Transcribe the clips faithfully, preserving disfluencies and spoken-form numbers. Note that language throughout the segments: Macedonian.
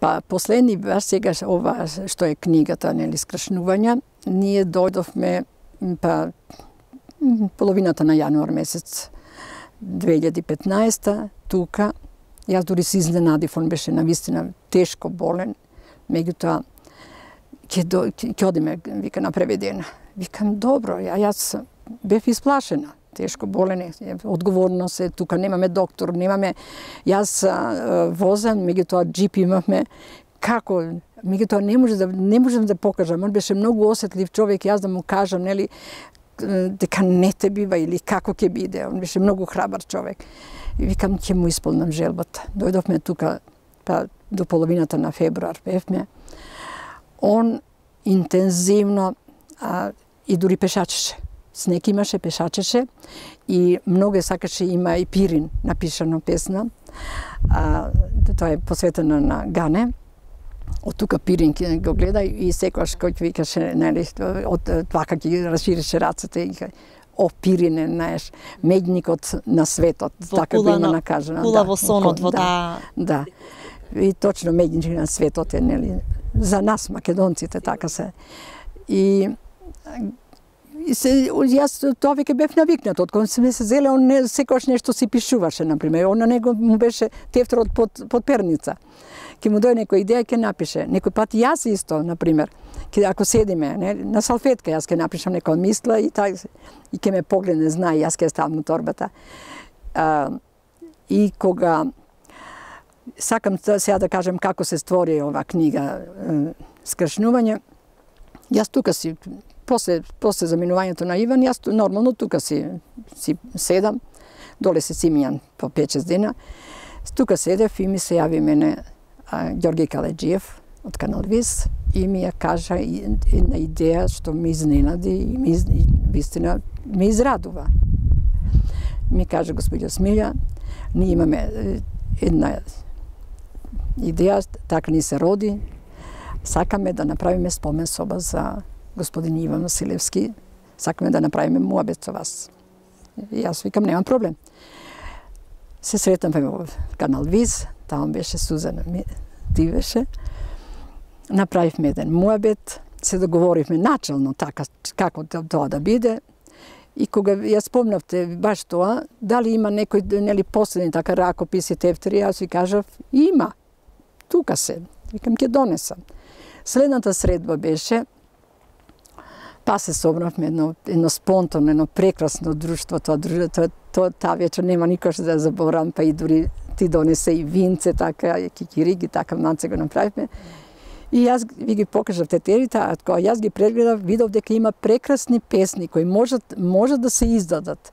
Па последни баш сега ова што е книгата, нели, скршнувања, ние дојдовме па половината на јануар месец две илјади и петнаесета тука. Јас дури се изненадив, он беше навистина тешко болен, меѓутоа ќе ќе одиме, вика, на преведена. Викам добро, ја јас бев исплашена. Тешко болен, одговорно се, тука немаме доктор, немаме, јас а, возам, меѓутоа джип имавме, како, меѓутоа не може да не можам да покажам, он беше многу осетлив човек, јас да му кажам, нели, дека не те бива или како ќе биде, он беше многу храбар човек. И викам, ќе му исполнам желбата. Дојдовме тука, па до половината на февруар бевме. Он интензивно а, и дури пешачеше. Снег имаше, пешачеше и многу сакаше, има и Пирин напишано песна. А, тоа е посветено на Гане. Од тука Пирин ќе го гледа и секогаш кој викаше, нели, од вака ќе расширеше рацете и о, Пирине, знаеш, медникот на светот, во така го има накажано. Кула во сонот, во таа... Да, и точно медник на светот е, нели, за нас, македонците, така се. И И се, јас тоа веќе бев навикнат, од кога сме се зеле, он не, секојаш нешто си пишуваше, например. Он на него му беше тефтерот под, под перница. Ке му дојде некоја идеја, ке напише. Некој пат јас исто, например, ке, ако седиме, не, на салфетка, јас ке напишам некоја мисла и, та, и ке ме погледне, знае, јас ке ставам на торбата. А, и кога сакам сега да кажем како се створи ова книга Скршнување, јас тука си После, после заминувањето на Иван, јас нормално тука си, си седам, доле се Симијан по пет-шест дена. Тука седев и ми се јави мене а, Ѓорги Каледжиев од Канал Виз и ми ја кажа една идеја што ми изненади и ми, и, вистина, ме израдува. Ми кажа, господјо Смилја, ние имаме една идеја, така ни се роди, сакаме да направиме спомен соба за господин Иван Василевски, сакаме да направиме муабет со вас. И јас викам, немам проблем. Се сретнавме во Канал Виз, таму беше Сузана Дивеше. Направивме еден муабет, се договоривме начално така како тоа да биде. И кога ја спомнавте баш тоа, дали има некој, нели, последни така ракописи, тефтери, јас ви кажав, има. Тука се. Викам, ќе донесам. Следната средба беше, па се собравме едно, едно спонтано, едно прекрасно друштво, тоа друштво, тоа таа вечер нема никош да заборавам, па и дури ти донесе и винце, така, и кикириги, така манце го направивме. И јас ви ги покажав тетерите, а кога јас ги прегледав, видов дека има прекрасни песни кои можат, можат да се издадат.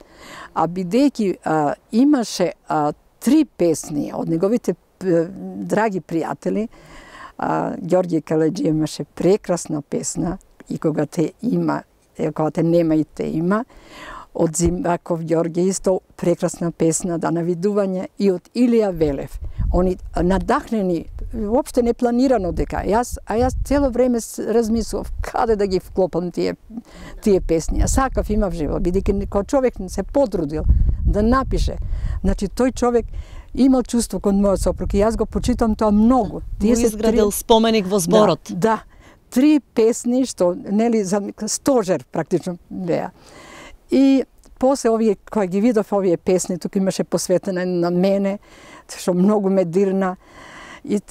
А бидејќи а, имаше а, три песни од неговите а, драги пријатели, а, Ѓорги Каледжиев имаше прекрасна песна, и кога те има, кога те нема и те има, од Зимбаков Ѓорги исто прекрасна песна, да навидување, и од Илија Велев. Они надахнени, воопште не планирано дека. Јас, а јас цело време размислував каде да ги вклопам тие, тие песни. А сакав, имав живот, бидејќи кога човек се потрудил да напише, значи тој човек имал чувство кон мојот сопруг и јас го почитам тоа многу. Тие се изградил три... споменик во зборот. Да, да. Три песни што, нели, за стожер практично беа. И после овие, кои ги видов овие песни, тука имаше посветена на мене, што многу ме дирна. И,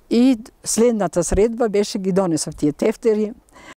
и следната средба беше, ги донесов тие тефтери